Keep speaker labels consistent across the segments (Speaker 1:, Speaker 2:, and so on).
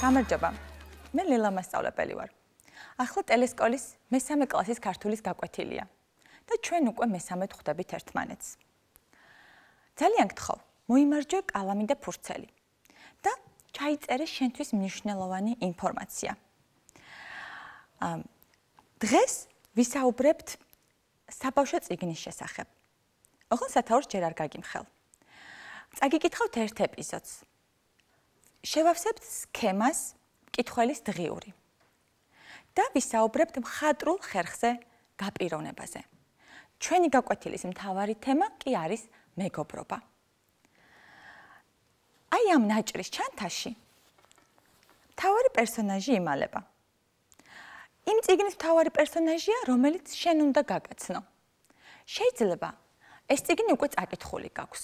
Speaker 1: გამარჯობა. მე ლელა მასწავლებელი ვარ. ახლა ტელესკოლის მესამე კლასის ქართულის გაკვეთილია და ჩვენ უკვე მესამედ ხვდებით ერთმანეთს. ძალიან გთხოვ, მოიმარჯვე კალამი და ფურცელი და ჩაიწერე შენთვის მნიშვნელოვანი ინფორმაცია. დღეს ვისაუბრებთ საბავშვო წიგნის შესახებ. ოღონდ სათაურს ჯერ არ გაგიმხელ. წაგიკითხავთ ერთ ეპიზოდს. შევავსებთ სქემას მკითხველის დღიური და ვისაუბრებთ მხატვრულ ხერხზე გაპიროვნებაზე. ჩვენი გაკვეთილის მთავარი თემა კი არის მეგობრობა. აი ამ ნაჭრის ჩანთაში მთავარი პერსონაჟი იმალება. იმ წიგნის მთავარი პერსონაჟია, რომელიც შენ უნდა გაგაცნო. შეიძლება ეს წიგნი უკვე წაკითხული გაქვს.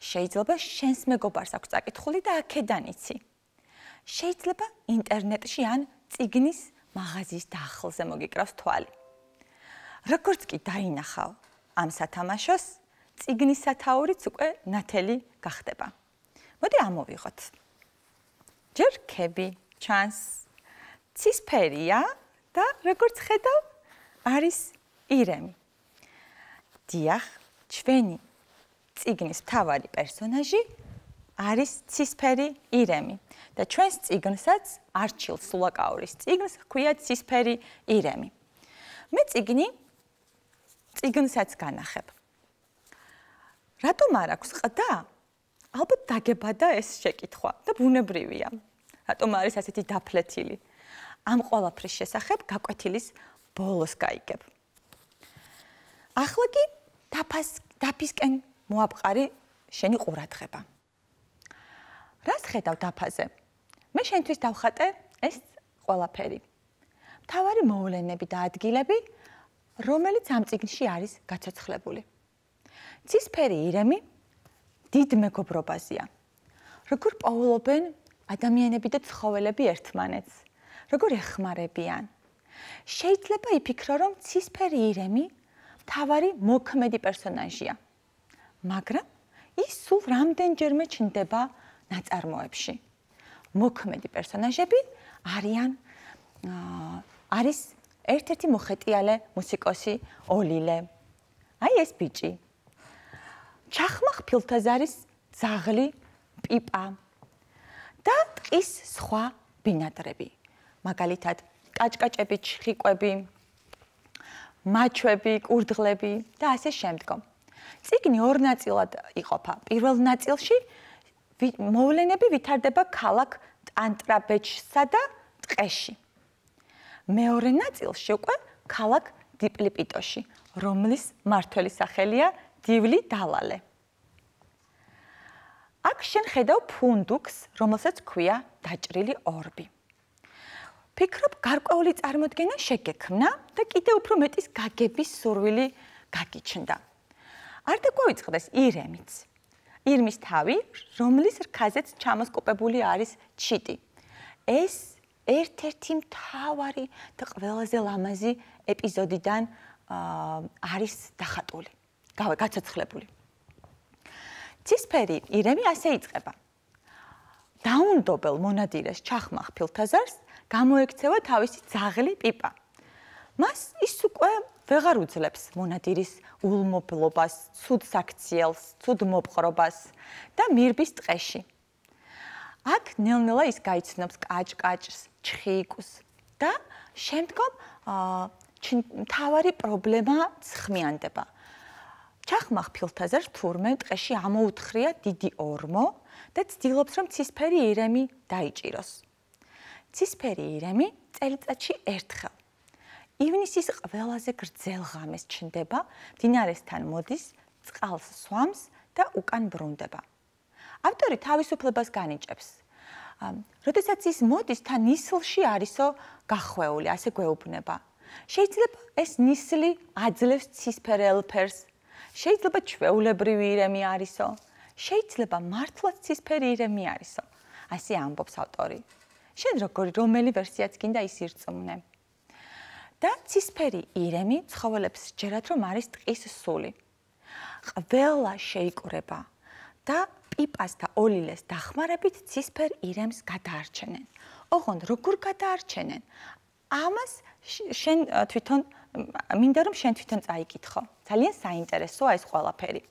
Speaker 1: შეიძლება შენს მეგობარს აქვს წაკითხული და აქედან იცი. შეიძლება ინტერნეტში ან წიგნის მაღაზიის დახლზე მოგიკრავს თვალი. როგორც კი დაინახავ ამ სათამაშოს, წიგნის სათაურიც უკვე ნათელი გახდება. მოდი ამოვიღოთ. ჯერ რქები ჩანს, ცისფერია და როგორც ხედავ, არის ირემი. დიახ, ჩვენი წიგნის მთავარი პერსონაჟი არის ცისფერი ირემი და ჩვენს წიგნსაც არჩილ სულაკაურის წიგნს ჰქვია ცისფერი ირემი. მე წიგნსაც განახებ. რატომ არ აქვს ყდა? ალბათ დაგებადა ეს შეკითხვა და ბუნებრივია. რატომ არის ასეთი დაფლეთილი? ამ ყველაფრის შესახებ გაკვეთილის ბოლოს გაიგებ. ახლა კი დაფისკენ მოაპყარი შენი ყურადღება. რას ხედავ დაფაზე? მე შენთვის დავხატე ეს ყველაფერი. მთავარი მოვლენები და ადგილები, რომელიც ამ წიგნში არის გაცოცხლებული. ცისფერი ირემი დიდ მეგობრობაზეა. როგორ პოულობენ ადამიანები და ცხოველები ერთმანეთს, როგორ ეხმარებიან. შეიძლება იფიქრო, რომ ცისფერი ირემი მთავარი მოქმედი პერსონაჟია. მაგრამ ის სულ რამდენჯერმე ჩნდება ნაწარმოებში. მოქმედი პერსონაჟები არის ერთ-ერთი მოხეტიალე მუსიკოსი ოლილე. აი ეს ბიჭი. ჩახმახ ფილთაზარის ძაღლი პიპა და ტყის სხვა ბინადრები. მაგალითად, კაჭკაჭები, ჩხიკვები, მაჩვები, კურდღლები და ასე შემდგომ. წიგნი ორ ნაწილად იყოფა. პირველ ნაწილში მოვლენები ვითარდება ქალაქ ტანტრაბეჯსა და ტყეში. მეორე ნაწილში უკვე ქალაქ დიპლიპიტოში, რომლის მმართველის სახელია დივლი დალალე. აქ შენ ხედავ ფუნდუქს, რომელსაც ჰქვია დაჭრილი ორბი. ფიქრობ, გარკვეული წარმოდგენა შეგექმნა და კიდევ უფრო მეტის გაგების სურვილი გაგიჩნდა. არ დაგვაიწყდეს ირემიც. ირმის თავი, რომლის რქაზეც ჩამოსკოპებული არის ჩიტი. ეს ერთ-ერთი მთავარი და ყველაზე ლამაზი ეპიზოდიდან არის დახატული, გაცოცხლებული. ცისფერი ირემი ასე იწყება. დაუნდობელ მონადირეს ჩახმახ ფილთაზარს გამოექცევა თავისი ძაღლი პიპა. მას ის უკვე ვეღარ უძლებს მონადირის ულმობლობას, ცუდ საქციელს, ცუდ მოპყრობას და მირბის ტყეში. აქ ნელ-ნელა ის გაიცნობს კაჭკაჭს, ჩხიკვს და შემდგომ მთავარი პრობლემა ცხმიანდება. ჩახმახ ფილთაზარს თურმე ტყეში ამოუთხრია დიდი ორმო და ცდილობს, რომ ცისფერი ირემი დაიჭიროს. ცისფერი ირემი წელიწადში ერთხელ ივნისის ყველაზე გრძელ ღამეს ჩნდება, მდინარესთან მოდის, წყალს სვამს და უკან ბრუნდება. ავტორი თავისუფლებას განიჭებს. როდესაც ის მოდის, თან ნისლში არისო გახვეული, ასე გვეუბნება. შეიძლება ეს ნისლი აძლევს ცისფერელ ფერს, შეიძლება ჩვეულებრივი ირემი არისო, შეიძლება მართლაც ცისფერი ირემი არისო. ასე ამბობს ავტორი. შენ რომელი ვერსიაც გინდა ის ირწმუნე. და ცისფერი ირემი ცხოველებს სჯერათ, რომ არის ტყის სული. ყველა შეიკრება და პიპას და ოლილეს დახმარებით ცისფერ ირემს გადაარჩენენ. ოღონდ როგორ გადაარჩენენ? ამას შენ თვითონ მინდა რომ შენ თვითონ წაიკითხო. ძალიან საინტერესოა ეს ყველაფერი.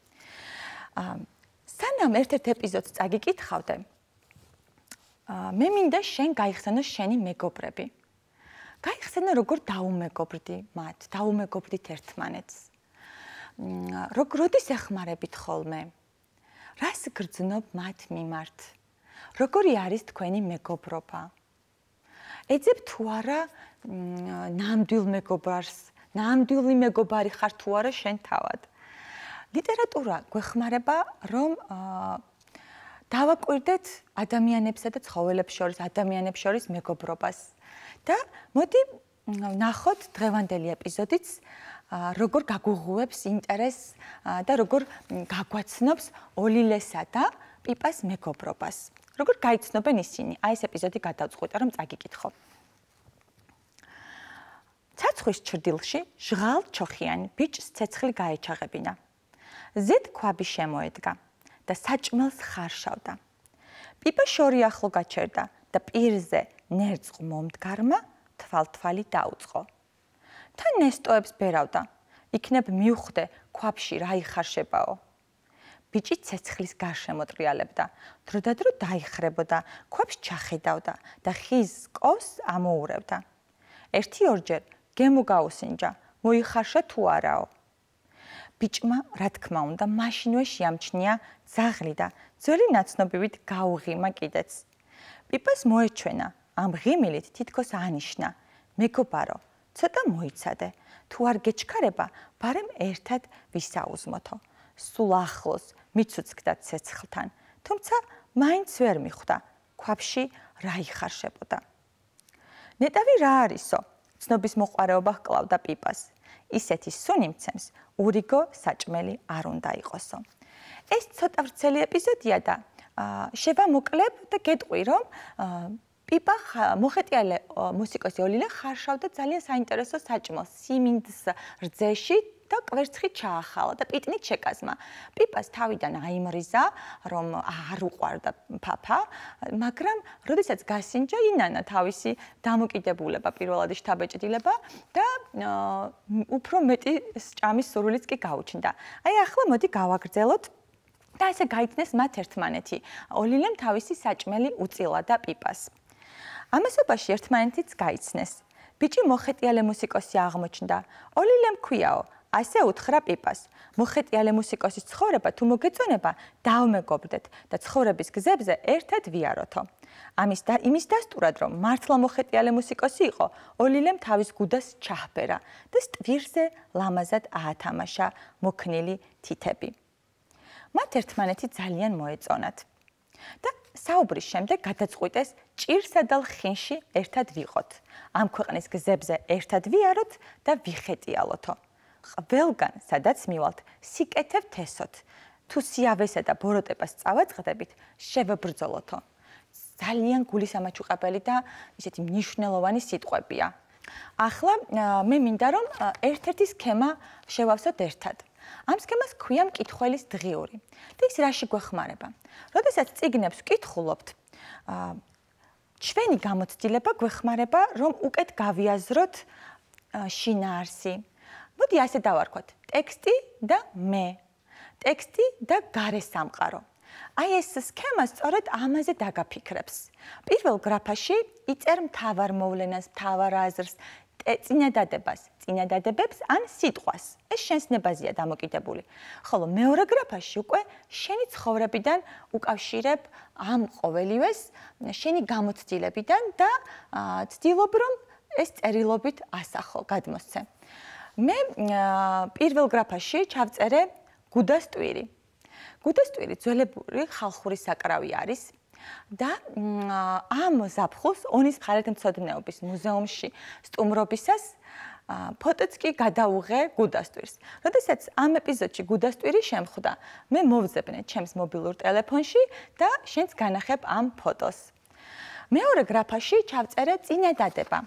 Speaker 1: სანამ ერთ-ერთ ეპიზოდს წაგიკითხავდე, მე მინდა შენ გაიხსენო შენი მეგობრები. გაიხსენო როგორ დაუმეგობრდი მათ, დაუმეგობრდით ერთმანეთს. როდის ეხმარებით ხოლმე? რას გრძნობ მათ მიმართ? როგორი არის თქვენი მეგობრობა? ეძებ თუ არა ნამდვილ მეგობარს, ნამდვილი მეგობარი ხარ თუ არა შენ თავად. ლიტერატურა გვეხმარება რომ დავაკვირდეთ ადამიანებსა და ცხოველებს შორის, ადამიანებს შორის მეგობრობას. და მოდი ნახოთ დღევანდელი ეპიზოდიც როგორ გაგუღუებს ინტერესს და როგორ გაგვაცნობს ოლილესა და პიპას მეგობრობას. როგორ გაიცნობენ ისინი? აი ეს ეპიზოდი გადავწყვიტე რომ წაგიკითხო. ცაცხვრის ჩრდილში ჟღალ ჩოხიანი ბიჭს ცეცხლი გაეჩაღებინა. ზედ ქვაბი შემოედგა და საჭმელს ხარშავდა. პიპა შორი ახლო გაჩერდა და პირზე ნერწყვ მომდგარმა თვალთვალი დაუწყო. თან ნესტოებს ბერავდა. იქნებ მივხვდე ქვაბში რა იხარშებაო. ბიჭი ცეცხლის გარშემო ტრიალებდა. დროდადრო დაიხრებოდა, ქვაბს ჩახედავდა და ხის კოვს ამოურევდა. ერთი-ორჯერ გემო გაუსინჯა, მოიხარშა თუ არაო. ბიჭმა, რა თქმა უნდა, მაშინვე შეამჩნია ძაღლი და ძველი ნაცნობივით გაუღიმა კიდეც. პიპას მოეჩვენა, ამ ღიმილით თითქოს ანიშნა, მეგობარო, ცოტა მოიცადე, თუ არ გეჩქარება, ბარემ ერთად ვისაუზმოთო. სულ ახლოს მიცუცქდა ცეცხლთან, თუმცა მაინც ვერ მიხვდა, ქვაბში რა იხარშებოდა. ნეტავი რა არისო? ცნობის მოყვარეობა ჰკლავდა პიპას. ისეთი სუნი მცემს, ურიგო საჭმელი არ უნდა იყოსო. ეს ცოტა ვრცელი ეპიზოდია და შევამოკლებ და გეტყვი, რომ პიპა მოხეტიალე მუსიკოსი ოლილე ხარშავდა ძალიან საინტერესო საჭმელს სიმინდს რძეში და კვერცხით ჩაახალა და პიტნით შეკაზმა. პიპას თავიდან აიმრიზა, რომ არ უყვარდა ფაფა, მაგრამ როდესაც გასინჯა ინანა თავისი დამოკიდებულება, პირველადი შთაბეჭდილება და უფრო მეტი ჭამის სურვილიც კი გაუჩნდა. აი ახლა მოდი გავაგრძელოთ და ესე გაიცნეს მათ ერთმანეთი. ოლილემ თავისი საჭმელი უწილა და პიპას. ამასობაში ერთმანეთიც გაიცნეს. ბიჭი მოხეტიალე მუსიკოსი აღმოჩნდა. ოლილემ ქვიაო, ასე უთხრა პიპას. მოხეტიალე მუსიკოსის ცხოვრება თუ მოგეწონება, დავმეგობრდეთ და ცხოვრების გზებზე ერთად ვიაროთო. იმის დასტურად, რომ მართლა მოხეტიალე მუსიკოსი იყო, ოლილემ თავის გუდას ჩაჰბერა და სტვირზე ლამაზად აათამაშა მოქნილი თითები. მათ ერთმანეთი ძალიან მოეწონათ. და საუბრის შემდეგ გადაწყვიტეს ჭირსა და ლხინში ერთად ვიყოთ. ამ ქვეყნის გზებზე ერთად ვიაროთ და ვიხეტიალოთო. ყველგან, სადაც მივალთ, სიკეთებთ ესოთ. თუ სიავესა და ბოროტებას წავაწყდებით, შევებრძოლოთო. ძალიან გულისამაჩუყებელი და ისეთი მნიშვნელოვანი სიტყვებია. ახლა მე მინდა რომ ერთ-ერთი სქემა შევავსოთ ერთად. ამ სქემას ქვია მკითხველის დღიური. და ის რაში გვეხმარება? როდესაც წიგნებს ვკითხულობთ, ჩვენი გამოცდილება გვეხმარება, რომ უკეთ გავიაზროთ შინაარსი. მოდი ასე დავარქვათ, ტექსტი და მე, ტექსტი და გარე სამყარო. აი ეს სქემა სწორედ ამაზე დაგაფიქრებს. პირველ გრაფაში იწერ მთავარ მოვლენას, მთავარ აზრს, წინადადებას, წინადადებებს ან სიტყვას. ეს შენს ნებაზეა დამოკიდებული. ხოლო მეორე გრაფაში უკვე შენი ცხოვრებიდან უკავშირებ ამ ყოველივეს, შენი გამოცდილებიდან და ცდილობ რომ ეს წერილობით ასახო, გადმოსცე. მე პირველ გრაფაში ჩავწერე გუდასტვირი. გუდასტვირი ძველებური ხალხური საკრავი არის და ამ ზაფხულს ონის მხარეთმცოდნეობის მუზეუმში სტუმრობისას ფოტოც კი გადაუღე გუდასტვირს. როდესაც ამ ეპიზოდში გუდასტვირი შემხვდა, მე მოვძებნე ჩემს მობილურ ტელეფონში და შენს განახებ ამ ფოტოს. მეორე გრაფაში ჩავწერე წინადადება.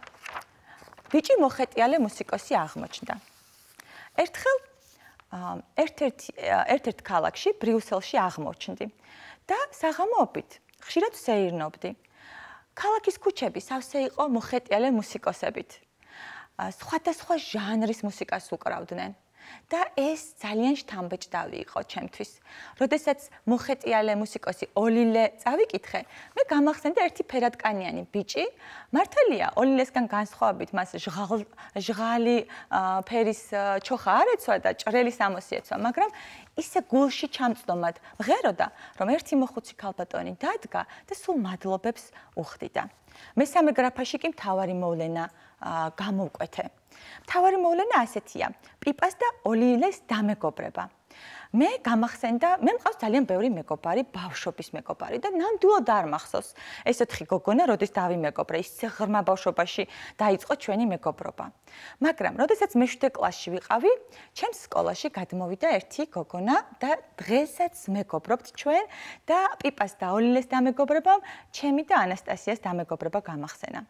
Speaker 1: ბიჭი მოხეტიალე მუსიკოსი აღმოჩნდა. ერთხელ ერთ-ერთ ქალაქში, ბრიუსელში აღმოჩნდი და საღამოობით ხშირად ვსეირნობდი. ქალაქის ქუჩები სავსე იყო მოხეტიალე მუსიკოსებით. სხვადასხვა ჟანრის მუსიკას უკრავდნენ. და ეს ძალიან შთამბეჭდავი იყო ჩემთვის. როდესაც მოხეტიალე მუსიკოსი ოლილე წავიკითხე, მე გამახსენდა ერთი ფერადკანიანი ბიჭი, მართალია, ოლილესგან განსხვავებით მას ჟღალი ფერის ჩოხა არ ეცვა და ჭრელი სამოსი ეცვა, მაგრამ ისე გულში ჩამწდომად მღეროდა, რომ ერთი მოხუცი ქალბატონი დადგა და სულ მადლობებს უხდიდა. მესამე გრაფაში კი მთავარი მოვლენა გამოვკვეთე. მთავარი მოვლენა ასეთია: პიპას და ოლილეს დამეგობრება. მე მყავს ძალიან ბევრი მეგობარი, ბავშვობის მეგობარი და ნამდვილად არ მახსოვს ეს 4 გოგონა, როდის დავიმეგობრე, ისე ღრმა ბავშვობაში დაიწყო ჩვენი მეგობრობა. მაგრამ, როდესაც მე-7 კლასში ვიყავი, ჩემს სკოლაში გადმოვიდა ერთი გოგონა და დღესაც მეგობრობთ ჩვენ და პიპას და ოლილეს დამეგობრებამ ჩემი და ანასტასიას დამეგობრება გამახსენა.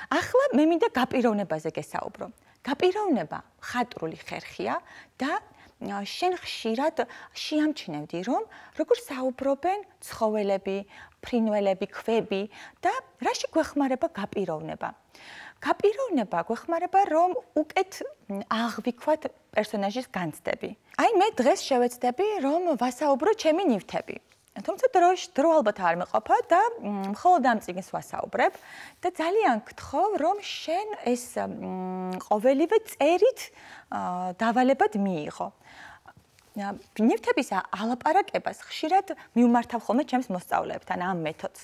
Speaker 1: ახლა მე მინდა გაპიროვნებაზე გესაუბრო. გაპიროვნება ხატრული ხერხია და შენ ხშირად შეამჩნევდი, რომ როგორ საუბრობენ ცხოველები, ფრინველები, ქვები და რაში გვეხმარება გაპიროვნება. გაპიროვნება გვეხმარება, რომ უკეთ აღვიქვათ პერსონაჟის განცდები. აი მე დღეს შევეცდები, რომ ვასაუბრო ჩემი ნივთები. თუმცა დრო ალბათ არ მეყოფა და მხოლოდ ამ წიგნს ვასაუბრებ და ძალიან გთხოვ, რომ შენ ეს ყოველივე წერით დავალებად მიიღო. ნივთების ალაპარაკებას ხშირად მივმართავ ხოლმე ჩემს მოსწავლეებთან ამ მეთოდს.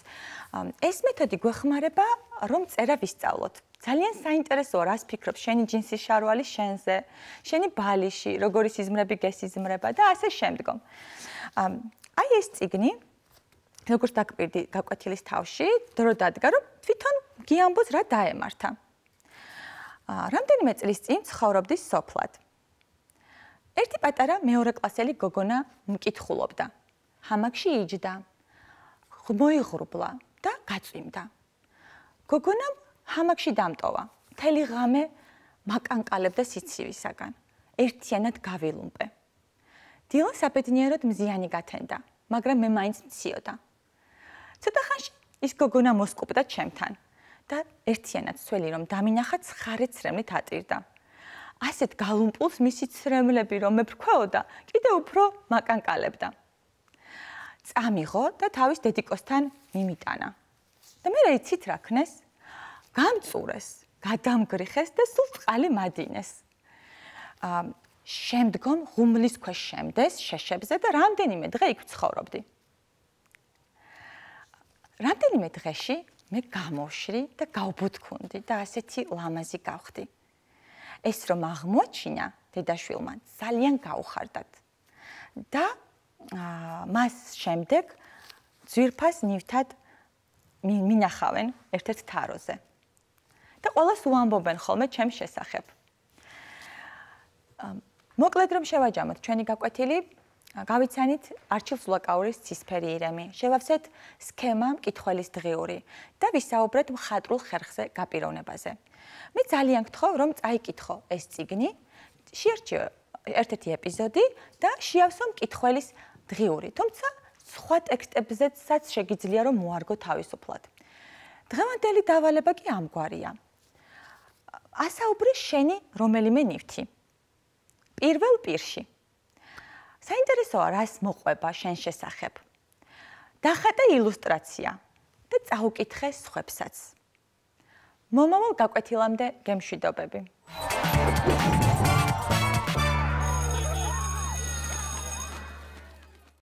Speaker 1: ეს მეთოდი გვეხმარება, რომ წერა ვისწავლოთ. ძალიან საინტერესოა, რას ფიქრობ შენი ჯინსის შარვალი შენზე, შენი ბალიში, როგორი სიზმრები გესიზმრება და ასე შემდგომ. აი ეს წიგნი, როგორც დაგკვირდი გაკვეთილის თავში, დრო დადგა, რომ თვითონ გიამბოს რა დაემართა. რამდენიმე წლის წინ ცხოვრობდი სოფლად. ერთი პატარა მეორე კლასელი გოგონა მკითხულობდა. ჰამაკში იჯდა, მოიღრუბლა და გაწვიმდა. გოგონამ ჰამაკში დამტოვა. მთელი ღამე მაკანკალებდა სიცივისაგან. ერთიანად გავილუმპე. დილა საბედნიეროდ მზიანი გათენდა, მაგრამ მე მაინც მციოდა. ცოტა ხანში ის გოგონა მოსკუპდა ჩემთან და ერთიანად ცველი რომ დამინახა ცხარე ცრემლით ატირდა. ასეთ გალუმპულს მისი ცრემლები რომ მეფრქვეოდა, კიდევ უფრო მაკანკალებდა. წამიღო და თავის დედიკოსთან მიმიტანა. და მე იცით რა ქნეს? გამწურეს, გადამგრიხეს და სულ წყალი მადინეს. შემდგომ ღუმლის ქვეშ შემდეს შეშებზე და რამდენიმე დღე იქ ცხოვრობდი. რამდენიმე დღეში მე გამოვშრი და გავბუთქუნდი და ასეთი ლამაზი გავხდი. ეს რომ აღმოჩინა დედაშვილმა ძალიან გაუხარდათ. და მას შემდეგ ძვირფას ნივთად მინახავენ ერთ-ერთ თაროზე. და ყველას უამბობენ ხოლმე ჩემს შესახებ. მოკლედ რომ შევაჯამოთ ჩვენი გაკვეთილი, გავიცანით არჩილ სულაკაურის ცისფერი ირემი, შევავსეთ სქემა მკითხველის დღიური და ვისაუბრეთ მხატვრულ ხერხზე გაპიროვნებაზე. მე ძალიან გთხოვ, რომ წაიკითხო ეს წიგნი, შეარჩიო ერთ-ერთი ეპიზოდი და შეავსო მკითხველის დღიური, თუმცა სხვა ტექსტებზეც შეგიძლია რომ მოარგო თავისუფლად. დღევანდელი დავალება კი ამგვარია. ასაუბრი შენი რომელიმე ნივთი. პირველ პირში. საინტერესოა, რას მოყვება შენ შესახებ. დახატე ილუსტრაცია და წაუკითხე სხვებსაც. მომავალ გაკვეთილამდე გემშვიდობები.